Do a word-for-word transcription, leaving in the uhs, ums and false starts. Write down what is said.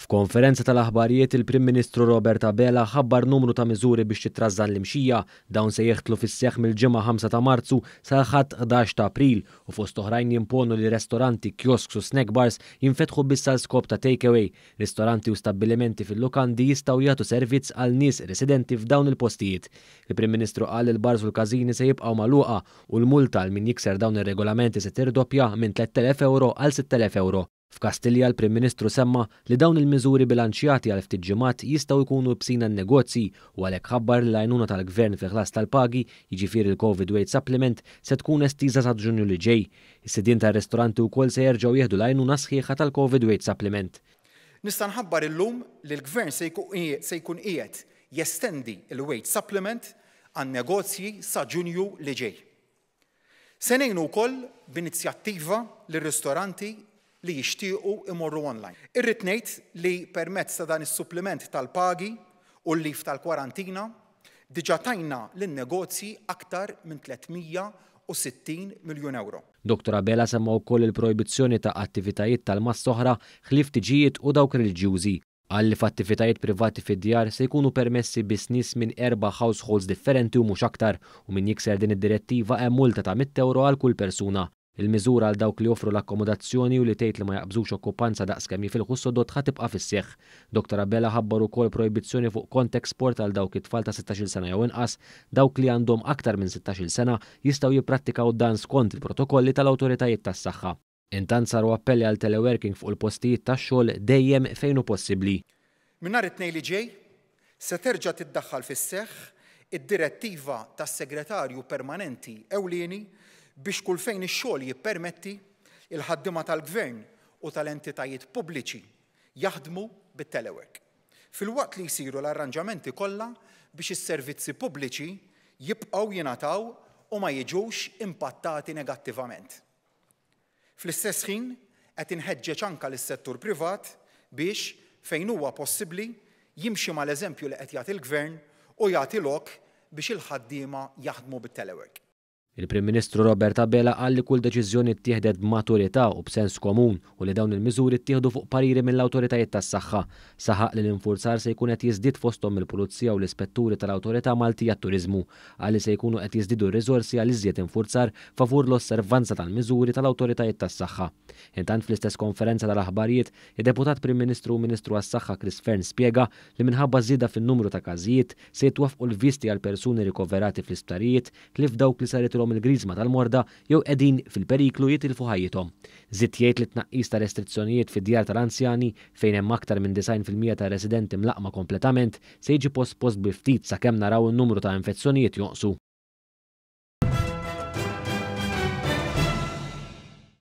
F'konferenza tal-aħbarijiet, il-Prim Ministru Robert Abela ħabbar numru ta' miżuri biex titrażżan l-imxija. Dawn se jidħlu fis-seħħ mill-Ġimgħa ħamsa ta' Marzu sal-Ħadd ħdax ta' April u fost oħrajn jimponu li ristoranti, kiosks u snack bars jinfetħu biss għal skop ta' takeaway. Ristoranti u stabbilimenti fil-lukandi jistgħu jagħtu servizz għal nies residenti f'dawn il-postijiet. Il-Prim Ministru qal li l-bars u l-każini se jibqgħu magħluqa u l-multa għal min jikser dawn ir-regolamenti se tirdoppja minn tlett elef euro għal sitt elef euro. F'Kastilja, l-Prim Ministru semma li dawn il-miżuri bilanċjati għal ftit ġimgħat jistgħu jkunu ibsin għan-negozji u għalhekk ħabbar li l-għajnuna tal-Gvern fil-ħlas tal-pagi, jiġifieri l-Covid Wage Supplement, se tkun estiża sa Ġunju li ġej. Is-sidien tar-ristoranti wkoll se jerġgħu jieħdu l-għajnuna sħiħa tal-Covid Wage Supplement. Nista' nħabbar illum li l-Gvern se jkun qiegħed jestendi l-Wage Supplement għan-negozji sa Ġunju li ġej. Se ngħinu wkoll b'inizjattiva lir-ristoranti li jixtiequ imorru online. Irrid ngħid li permezz ta' dan is-suppliment tal-pagi u l-lif tal-kwarantina diġà tajna lin-negozji aktar minn tliet mija u sittin miljun euro. Doktor Abela semma wkoll il-projbizzjoni ta' attivitajiet tal-massa oħra ħlief tiġijiet u dawk reliġjużi. Qal li f'attivitajiet privati fid-djar se jkunu permessi biss nies minn erba' households differenti u mhux aktar, u min jikser din id-direttiva hemm multa ta' mitt euro għal kull persuna. Il-miżura għal dawk li joffru l-akkomodazzjoni u li tgħid li ma jaqbżux okkupanza daqskemm jifilħu s-sodod ħa tibqa' fis-seħħ. Doktor Abela ħabbar ukoll projbizzjoni fuq contact sport għal dawk it-tfal ta' sittax-il sena jew inqas. Dawk li għandhom aktar minn sittax-il sena jistgħu jipprattikaw dan skont il-protokolli tal-awtoritajiet tas-saħħa. Intant saru appelli għal teleworking fuq il-postijiet tax-xogħol dejjem fejn hu possibbli. Minn nhar it-Tnejn li ġej se terġa' tiddaħħal fis-seħħ id-direttiva tas-Segretarju Permanenti Ewlieni biex kull fejn ix-xogħol jippermetti il-ħaddiema tal-Gvern u tal-entitajiet pubbliċi jaħdmu bit-telework, filwaqt li jsiru l-arranġamenti kollha biex is-servizzi pubbliċi jibqgħu jingħataw u ma jiġux impattati negattivament. Fl-istess ħin qed inħeġġeġ anke lis-settur privat biex, fejn huwa possibbli, jimxi mal-eżempju li qed jagħti l-Gvern u jagħti lok biex il-ħaddiema jaħdmu bit-telework. Il-Prim Ministru Robert Abela qal li kull deċiżjoni ttieħdet b'maturità u b'sens komun u li dawn il-miżuri ttieħdu fuq pariri mill-awtoritajiet tas-saħħa. Saħaq li l-infurzar se jkun qed jiżdied fosthom mill-Pulizija u l-Ispetturi tal-Awtorità Maltija għat-Turiżmu. Qal li se jkunu qed jiżdiedu r-riżorsi għal iżjed infurzar favur l-osservanza tal-miżuri tal-awtoritajiet tas-saħħa. Intant fl-istess konferenza tal-aħbarijiet, id-Deputat Prim Ministru u Ministru għas-Saħħa Chris Fearne spjega li minħabba żieda fin-numru ta' każijiet se jitwaffqu l-visti għal persuni rikoverati fl-isptarijiet li f'dawk li saret il-griżma tal-morda jew qegħdin fil-periklu jitilfu ħajjithom. Żied jgħid li tnaqqis ta' restrizzjonijiet fid-djar tal-anzjani fejn hemm aktar minn disgħin fil-mija ta' residenti mlaqma kompletament se jiġi pospost bi ftit sakemm naraw in-numru ta' infezzjonijiet jonqsu.